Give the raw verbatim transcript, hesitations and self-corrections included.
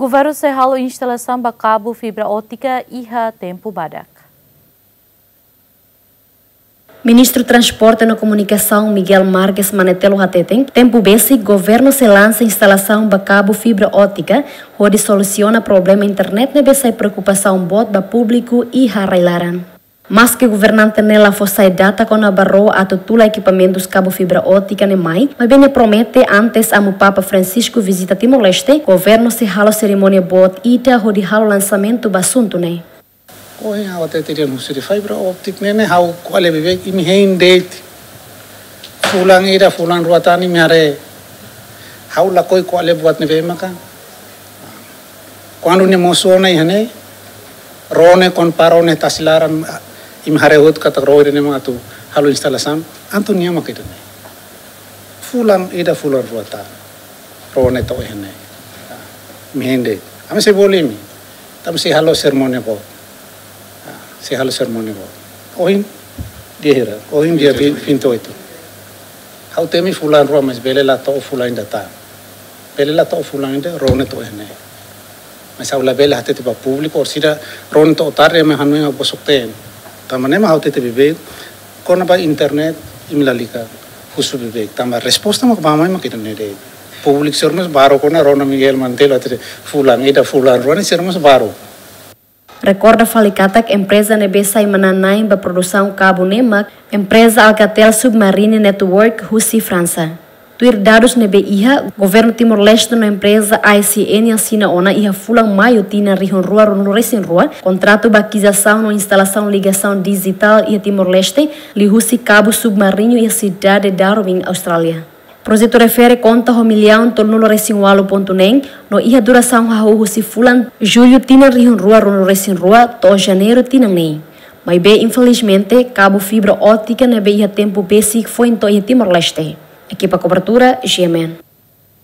Governu sei halo instalasaun ba kabu fibra ótika iha tempu badak. Ministru Transporte no Komunikasaun Miguel Marques Manetelu hateten, tempu besik governu sei lansa instalasaun ba kabu fibra ótika, hodi solusiona problema internet ne'ebé sai preokupasaun boot ba públiku iha rai-laran. Maske governante ne'e la fó sai data kona-ba ró atu tula ekipamentus kabu fibra ótika ne'e mai, maibé nia promete antes Amu Papa Francisco vizita Timor-Leste, governu sei halo serimónia boot ida hodi halo lansamentu ba asuntu ne'e. Ohin ha'u hatete dehan husi fibra ótika ne'e, ne'e ha'u ko'alia beibeik, imi hein de'it. Fulan ida, fulan rua tan imi haree. Ha'u lakohi ko'alia buat ne'ebé maka. Kuandu nia mosu ona iha ne'e, ró ne'e, kuandu para ró ne'e tasi laran, imi haree hotu katak ró ida-ne'e mak atu halo instalasaun, entaun nia maka ida-ne'e. Fulan ida, fulan rua tan. Ró ne'e to'o iha ne'e. Imi hein de'it. Ami sei bolu imi. Tanba sei halo serimónia boot. Ah, sei halo serimónia boot. Ohin dia hira, ohin dia vinte e oito. Ha'u temi fulan rua, mas bele la to'o fulan ida tan. Bele la to'o fulan ida, ró ne'e to'o iha ne'e. Mas ha'u labele hatete ba públiku, orsida ró ne'e to'o tarde, ema hanoin ha'u bosok-teen. Tanba ne'e mak ha'u hatete beibeik, kona-ba internet, imi lalika husu beibeik. Tanba resposta mak ba mai mak ida-ne'e de'it. Públiku sira mós baru kona rona Miguel Manetelu hatete fulan ida, fulan rua ne'e sira mós baru. Rekorda fali katak empreza ne'ebé sai manán-na'in ba produsaun kabu ne'e mak empreza Alcatel Submarine Network husi Fransa. Tuir dadus ne'ebé iha, governu Timor-Leste no empreza I C N asina ona iha fulan Maiu tinan rihun rua ruanulu resin rua, kontratu ba akizisaun no instalasaun ligasaun dijitál iha Timor-Leste, liuhusi kabu submarinu iha sidade Darwin, Austrália. Projetu refere konta ho millaun tolunulu resin ualu pontu neen, no iha durasaun hahú husi fulan Jullu tinan rihun rua ruanulu resin rua to'o Janeiru tinan ne'e. Maibé, infelizmente, kabu fibra ótika ne'ebé iha tempu besik foin to'o iha Timor-Leste. Ekipa kobertura, G M N.